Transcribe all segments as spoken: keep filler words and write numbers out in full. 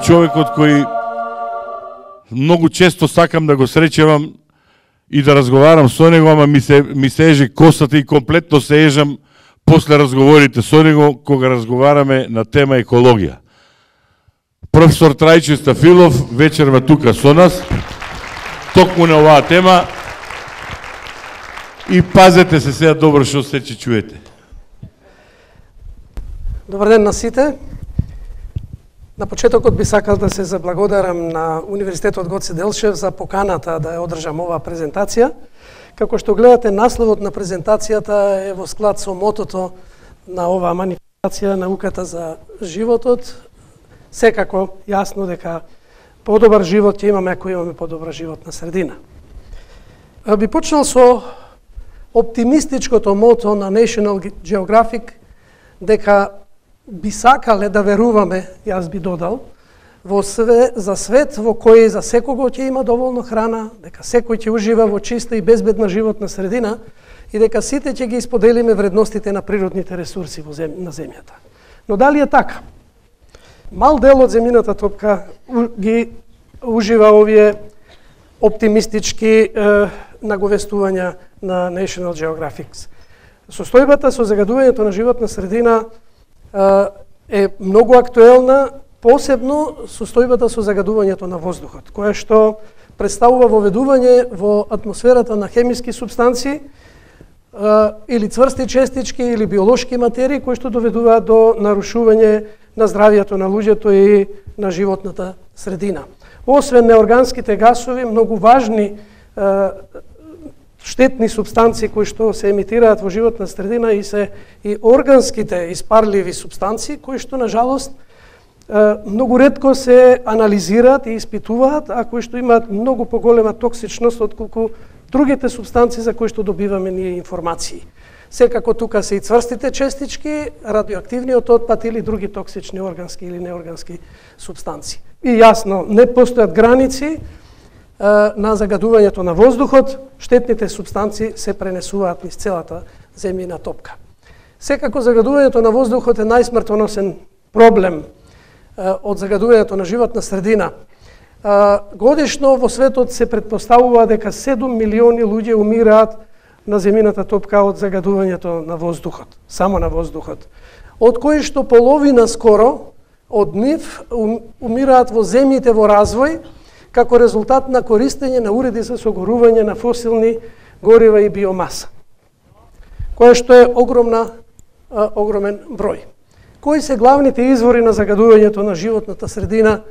човекот кој многу често сакам да го среќавам и да разговарам со него, ама ми се, ми се еже косата и комплетно се ежам после разговорите со него, кога разговараме на тема екологија. Професор Трајче Стафилов вечерва тука со нас, токму на оваа тема, и пазете се сега добро што се че чуете. Добар ден на сите. На почетокот би сакал да се заблагодарам на Универзитетот Гоце Делчев за поканата да ја одржам оваа презентација. Како што гледате, насловот на презентацијата е во склад со мотото на оваа манифестација, науката за животот. Секако јасно дека подобар живот ќе имаме ако имаме подобра животна средина. Би почнал со оптимистичкото мото на National Geographic дека би сакале да веруваме, јас би додал, во све, за свет во кој за секого ќе има доволно храна, дека секој ќе ужива во чиста и безбедна животна средина и дека сите ќе ги исподелиме вредностите на природните ресурси во зем, на земјата. Но дали е така? Мал дел од земјината топка ги ужива овие оптимистички е, наговестувања на National Geographic. Состојбата со загадувањето на животна средина е многу актуелна, посебно состојбата со загадувањето на воздухот, кое што представува воведување во атмосферата на хемиски супстанции или цврсти честички или биолошки материи кои што доведуваат до нарушување на здравието на луѓето и на животната средина. Освен неорганските гасови, многу важни штетни супстанции кои што се емитираат во животна средина и се и органските испарливи супстанции кои што на жалост многу ретко се анализираат и испитуваат, а кои што имаат многу поголема токсичност отколку другите супстанции за кои што добиваме ние информации. Секако тука се и цврстите честички, радиоактивниот отпад или други токсични органски или неоргански супстанции. И јасно, не постојат граници на загадувањето на воздухот, штетните супстанции се пренесуваат низ целата земјина топка. Секако загадувањето на воздухот е најсмртоносен проблем од загадувањето на животна средина. Годишно во светот се претпоставува дека седум милиони луѓе умираат на земјината топка од загадувањето на воздухот, само на воздухот. Од кои што половина скоро од нив умираат во земјите во развој, како резултат на користење на уреди за согорување на фосилни горива и биомаса, кое што е огромна, а, огромен број. Кои се главните извори на загадувањето на животната средина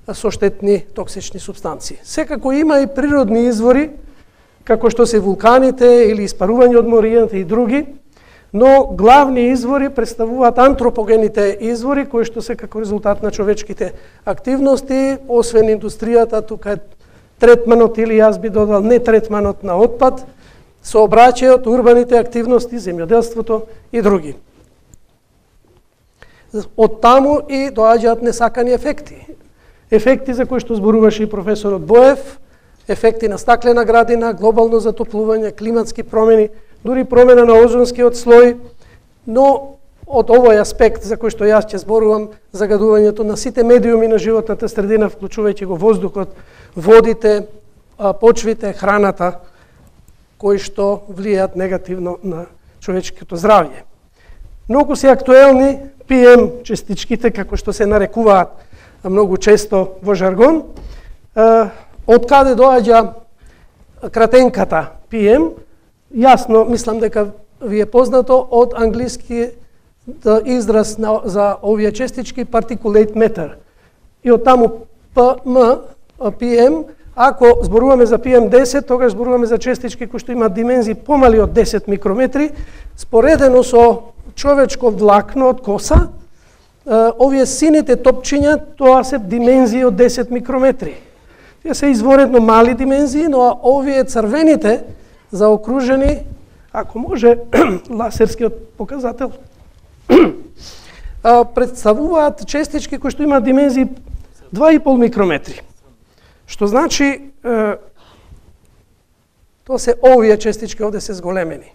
со штетни токсични супстанции? Секако има и природни извори, како што се вулканите или испарување од моријата и други, но главни извори представуваат антропогените извори, кои што се како резултат на човечките активности, освен индустријата, тука е третманот или јас би додал не третманот на отпад, сообраќајот, урбаните активности, земјоделството и други. Од таму и доаѓаат несакани ефекти. Ефекти за кои што зборуваше и професорот Боев, ефекти на стаклена градина, глобално затоплување, климатски промени, дури промена на озонскиот слој, но од овој аспект за кој што јас ќе зборувам, загадувањето на сите медиуми на животната средина, вклучувајќи го воздухот, водите, почвите, храната, кои што влијаат негативно на човечкото здравје. Многу се актуелни пи ем честичките, како што се нарекуваат многу често во жаргон. Од каде доаѓа кратенката пи ем? Јасно, мислам дека ви е познато од англиски израз на, за овие честички particulate matter. И од таму пи ем, пи ем, ако зборуваме за пи ем десет, тогаш зборуваме за честички кои што имаат димензии помали од десет микрометри, споредено со човечко влакно од коса, овие сините топчиња, тоа се димензии од десет микрометри. Тие се изворедно мали димензии, но овие црвените заокружени, ако може, ласерскиот показател, представуваат честички кои што имаат димензии два и пол микрометри. Што значи, тоа се овие честички овде се зголемени.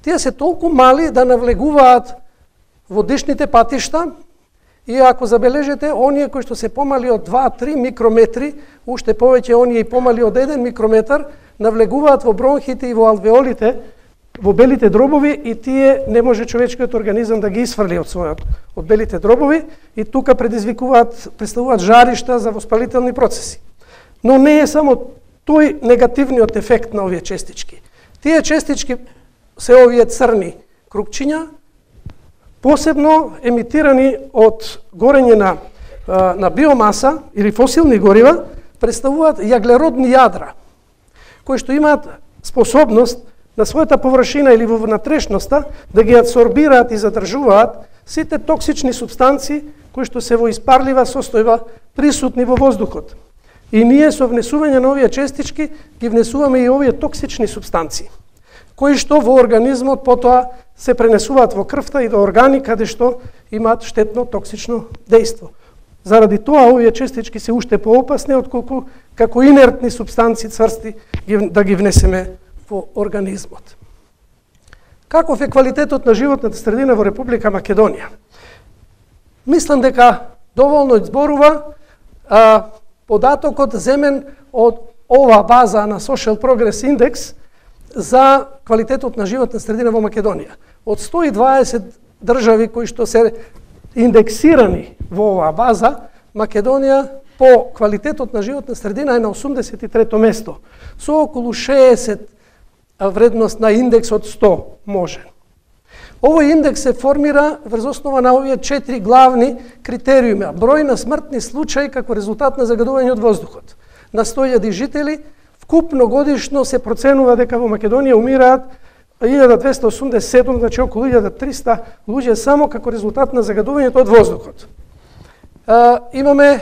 Тие се толку мали да навлегуваат во дишните патишта И ако забележите, оние кои што се помали од два до три микрометри, уште повеќе оние и помали од еден микрометар, навлегуваат во бронхите и во алвеолите, во белите дробови, и тие не може човечкиот организам да ги исфрли од својот од белите дробови, и тука предизвикуваат, представуваат жаришта за воспалителни процеси. Но не е само тој негативниот ефект на овие честички. Тие честички се овие црни крупчиња, посебно емитирани од горење на, на биомаса или фосилни горива, представуваат јаглеродни јадра, кои што имаат способност на својата површина или во внатрешноста да ги адсорбираат и задржуваат сите токсични супстанции кои што се во испарлива состојба присутни во воздухот. И ние со внесување на овие честички ги внесуваме и овие токсични супстанции, кои што во организмот потоа се пренесуваат во крвта и до органи каде што имаат штетно токсично дејство. Заради тоа овие честички се уште поопасни отколку како инертни супстанции цврсти да ги внесеме во организмот. Каков е квалитетот на животната средина во Република Македонија? Мислам дека доволно зборува а, податокот земен од ова база на Social Progress Index за квалитетот на животна средина во Македонија. Од сто и дваесет држави кои што се индексирани во оваа база, Македонија по квалитетот на животна средина е на осумдесет и трето место, со околу шеесет вредност на индекс од сто можен. Овој индекс се формира врз основа на овие четири главни критериуми: број на смртни случаи како резултат на загадување од воздухот. На сто илјади жители, вкупно годишно се проценува дека во Македонија умираат илјада двесте осумдесет и седум, значи околу илјада и триста луѓе само како резултат на загадувањето од воздухот. А, имаме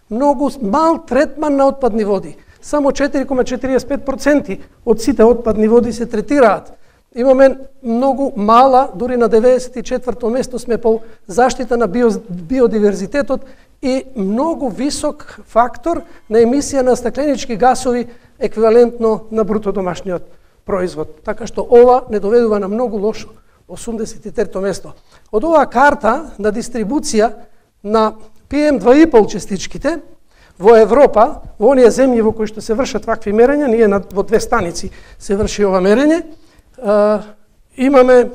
многу мал третман на отпадни води. Само четири zarez четириесет и пет проценти од сите отпадни води се третираат. Имаме многу мала, дури на деветдесет и четврто место сме по заштита на био, биодиверзитетот и многу висок фактор на емисија на стакленички гасови еквивалентно на бруто домашниот производ. Така што ова не доведува на многу лошо осумдесет и трето место. Од оваа карта на дистрибуција на пи ем два и пет частичките во Европа, во оние земји во кои што се вршат вакви мерења, ние на, во две станици се врши ова мерење, а, имаме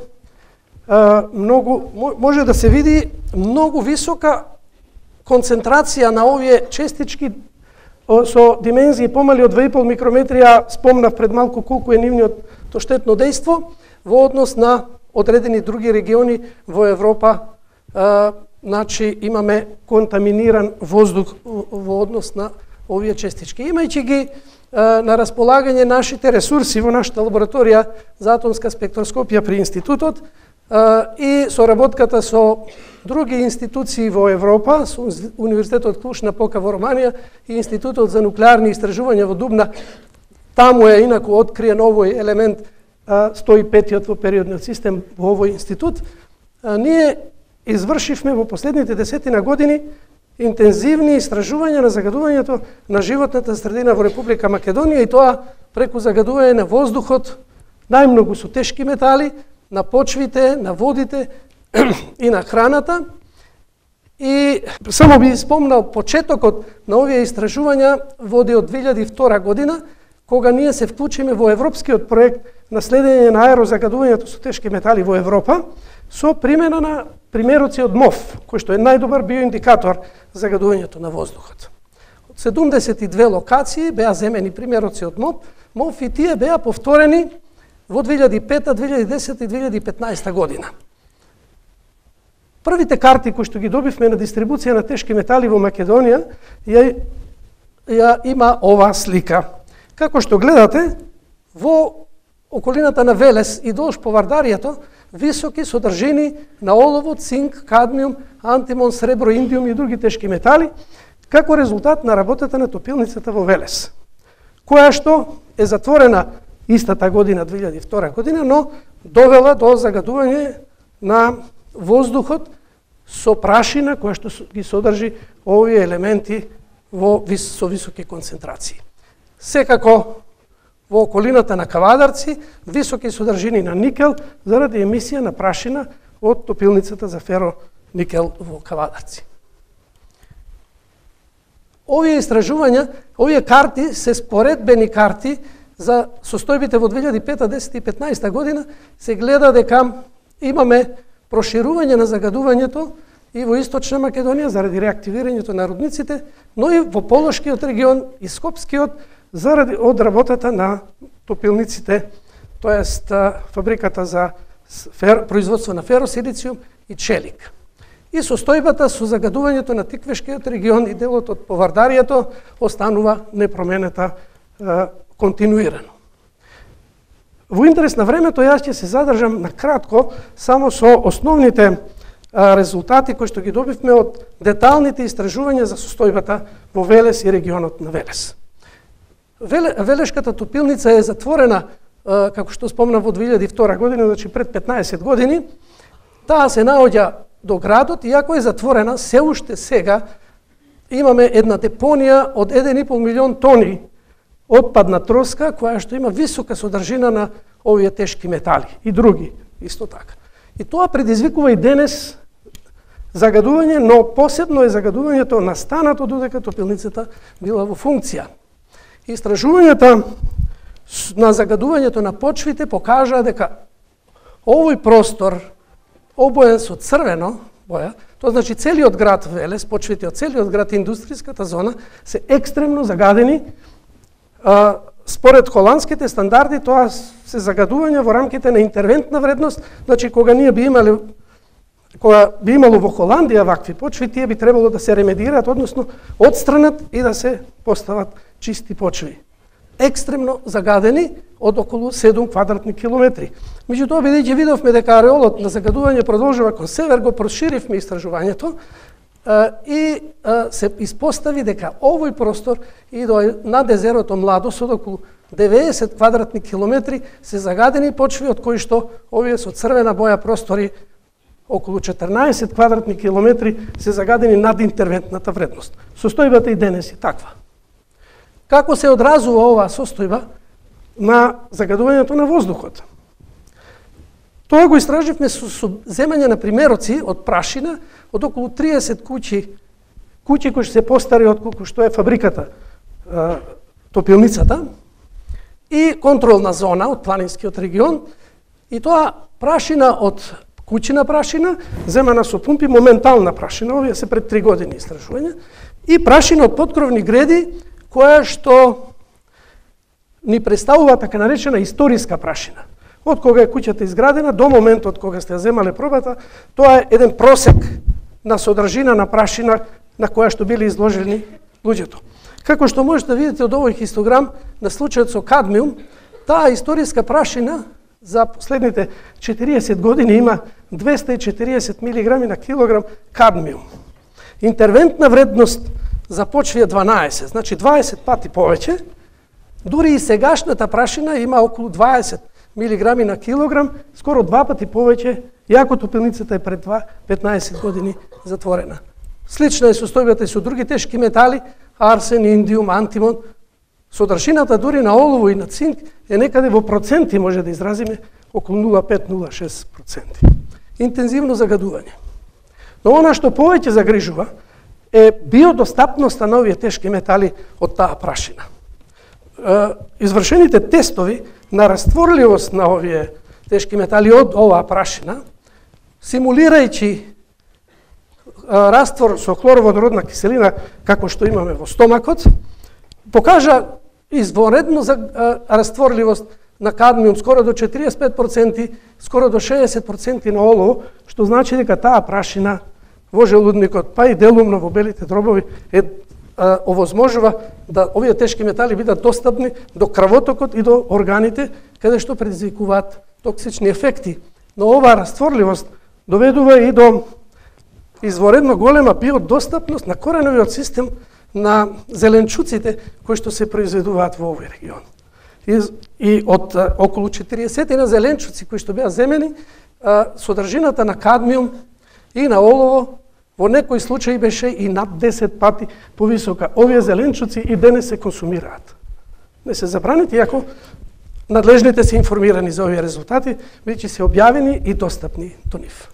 а, многу, може да се види многу висока концентрација на овие честички со димензии помали од две и пет микрометри, а спомнав пред малку колку е нивниот то штетно дејство во однос на одредени други региони во Европа. А, значи имаме контаминиран воздух во однос на овие честички. Имајќи ги а, на располагање нашите ресурси во нашата лабораторија за атомска спектроскопија при институтот а, и соработката со други институции во Европа, со Универзитетот Клуж-Напока во Романија и Институтот за нуклеарни истражувања во Дубна, таму е инаку откриен овој елемент а, сто и петиот во периодниот систем во овој институт, а, ние извршивме во последните десетина години интензивни истражувања на загадувањето на животната средина во Република Македонија, и тоа преку загадување на воздухот, најмногу со тешки метали, на почвите, на водите и на храната. И само би спомнал почетокот на овие истражувања води од две илјади и втора година, кога ние се вклучиме во европскиот проект на следење на аерозагадувањето со тешки метали во Европа, со примена на примероци од МОВ, кој што е најдобар биоиндикатор за загадувањето на воздухот. Од седумдесет и две локации беа земени примероци од МОВ, МОВ и тие беа повторени во две илјади и пета, две илјади и десета и две илјади и петнаесета година. Првите карти кои што ги добивме на дистрибуција на тешки метали во Македонија ја, ја има оваа слика. Како што гледате, во околината на Велес и долж по Вардаријето високи содржини на олово, цинк, кадмиум, антимон, сребро, индиум и други тешки метали, како резултат на работата на топилницата во Велес, која што е затворена истата година, две илјади и втора година, но довела до загадување на воздухот со прашина која што ги содржи овие елементи во вис, со високи концентрации. Секако во околината на Кавадарци високи содржини на никел заради емисија на прашина од топилницата за феро никел во Кавадарци. Овие истражувања, овие карти се споредбени карти за состојбите во две илјади и пета, десета и петнаесета година, се гледа дека имаме проширување на загадувањето и во Источна Македонија заради реактивирањето на рудниците, но и во Полошкиот регион и Скопскиот заради од работата на топилниците, тоест фабриката за фер, производство на феросилициум и челик. И состојбата со загадувањето на Тиквешкиот регион и делот од Повардарието останува непроменета е, континуирано. Во интерес на времето јас ќе се задржам на кратко само со основните е, резултати кои што ги добивме од деталните истражувања за состојбата во Велес и регионот на Велес. Веле, Велешката топилница е затворена, е, како што спомнав, во две илјади и втора година, значи пред петнаесет години. Таа се наоѓа до градот, иако е затворена, се уште сега имаме една депонија од еден и пол милион тони отпадна троска, која што има висока содржина на овие тешки метали и други, исто така. И тоа предизвикува и денес загадување, но посебно е загадувањето настанато додека топилницата била во функција. Истражувањата на загадувањето на почвите покажаа дека овој простор обоен со црвено боја, тоа значи целиот град Велес, почвите од целиот град, индустријската зона, се екстремно загадени. А, според холандските стандарди, тоа се загадувања во рамките на интервентна вредност, значи кога ние би имале кога би имало во Холандија вакви почви, тие би требало да се ремедираат, односно одстранат и да се постават чисти почви. Екстремно загадени од околу седум квадратни километри. Меѓутоа, бидејќи видовме дека ареолот на загадување продолжува кон север, го проширивме истражувањето и се испостави дека овој простор и до над езерото Младост од околу деветдесет квадратни километри се загадени почви, од кои што овие со црвена боја простори околу четрнаесет квадратни километри се загадени над интервентната вредност. Состојбата и денес е таква. Како се одразува оваа состојба на загадувањето на воздухот? Тоа го истраживме со, со земање на примероци од прашина од околу триесет куќи, куќи кои се постари од колку што е фабриката, е, топилницата, и контролна зона од планинскиот регион, и тоа прашина од куќина прашина, земана со пумпи, моментална прашина, овие се пред три години истражувања, и прашина од подкровни греди, која што ни представува така наречена историска прашина. Од кога е куќата изградена до моментот кога сте ја земале пробата, тоа е еден просек на содржина на прашина на која што били изложени луѓето. Како што можете да видите од овој хистограм на случајот со кадмиум, таа историска прашина за последните четириесет години има двесте и четириесет милиграми на килограм кадмиум. Интервентна вредност за почви е дванаесет, значи дваесет пати повеќе. Дури и сегашната прашина има околу дваесет милиграми на килограм, скоро два пати повеќе, иако топилницата е пред петнаесет години затворена. Слична е состојбата и со други тешки метали, арсен, индиум, антимон. Содржината дури на олово и на цинк е некаде во проценти, може да изразиме, околу нула целу пет до нула целу шест проценти. Интензивно загадување. Но она што повеќе загрижува е биодостапноста на овие тешки метали од таа прашина. Извршените тестови на растворливост на овие тешки метали од оваа прашина, симулирајќи раствор со хлороводородна киселина, како што имаме во стомакот, покажа извонредно за растворливост на кадмиум скоро до четириесет и пет проценти, скоро до шеесет проценти на олово, што значи дека таа прашина во желудникот, па и делумно во белите дробови, е, а, овозможува да овие тешки метали бидат достапни до крвотокот и до органите, каде што предизвикуваат токсични ефекти. Но оваа растворливост доведува и до изворедно голема биодостапност на кореновиот систем на зеленчуците кои што се произведуваат во овој регион. И, и од а, околу четириесет на зеленчуци кои што беа земени, а, содржината на кадмиум и на олово во некои случаи беше и над десет пати повисока. Овие зеленчуци и денес се консумираат. Не се забранети, иако надлежните се информирани за овие резултати, бидејќи се објавени и достапни до нив.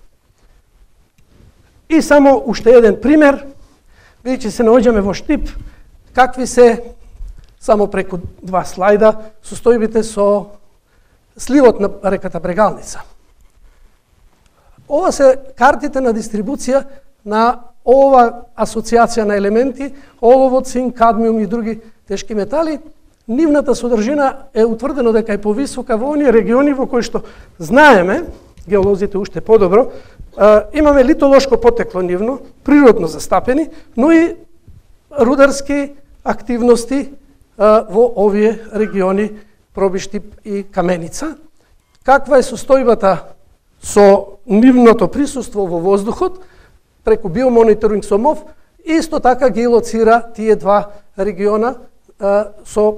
И само уште еден пример, видите се наоѓаме во Штип, какви се, само преку два слайда, состојбите со сливот на реката Брегалница. Ова се картите на дистрибуција на ова асоциација на елементи, олово, цинк, кадмиум и други тешки метали. Нивната содржина е утврдено дека е повисока во оние региони во кои што знаеме, геолозите уште подобро, имаме литолошко потекло нивно, природно застапени, но и рударски активности во овие региони Пробиштип и Каменица. Каква е состојбата со нивното присуство во воздухот, преку биомониторинг со МОВ, исто така ги лоцира тие два региона а, со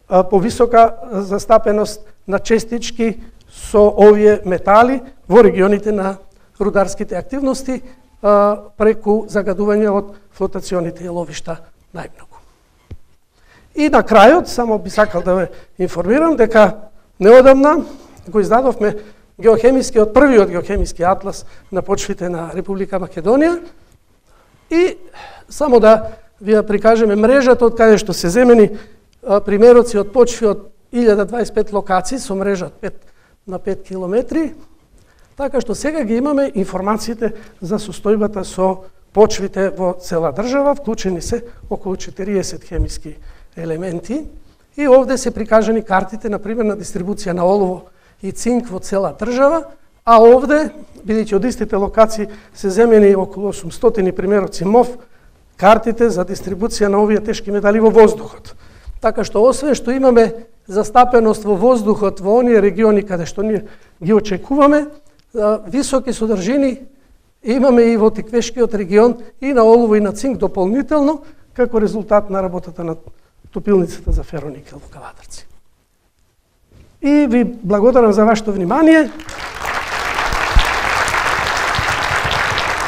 а, повисока застапеност на честички со овие метали во регионите на рударските активности а, преку загадување од флотационите ловишта најмногу. И на крајот, само би сакал да ве информирам дека неодамна го издадовме геохемискиот, првиот геохемиски атлас на почвите на Република Македонија и само да ви прикажеме мрежата од каде што се земени примероци од почви од илјада дваесет и пет локации со мрежа од пет на пет километри, така што сега ги имаме информациите за состојбата со почвите во цела држава, вклучени се околу четириесет хемиски елементи и овде се прикажани картите, например, на дистрибуција на олово и цинк во цела држава, а овде, бидејќи од истите локации се земени околу осумстотини примероци МОВ, картите за дистрибуција на овие тешки метали во воздухот. Така што освен што имаме застапеност во воздухот во оние региони каде што ние ги очекуваме, високи содржини имаме и во Тиквешкиот регион и на олово и на цинк дополнително, како резултат на работата на топилницата за фероникел во Кавадарци. И ви благодарам за вашето внимание.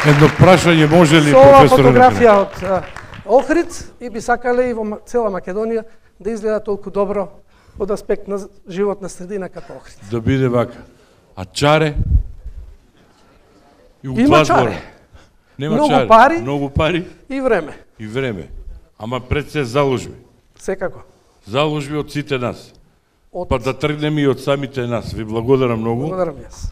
Едно прашање може ли, Со ова професор? фотографија од а, Охрид и би сакале и во цела Македонија да изгледа толку добро од аспект на животна средина како Охрид. Да биде вака. А чаре? И Има чаре. Нема Многу чаре. пари. Многу пари И време. и време. Ама пред се заложби. Секако. Заложби од сите нас. Од... Па да тргнеме и од самите нас. Ви благодарам многу. Благодарам јас.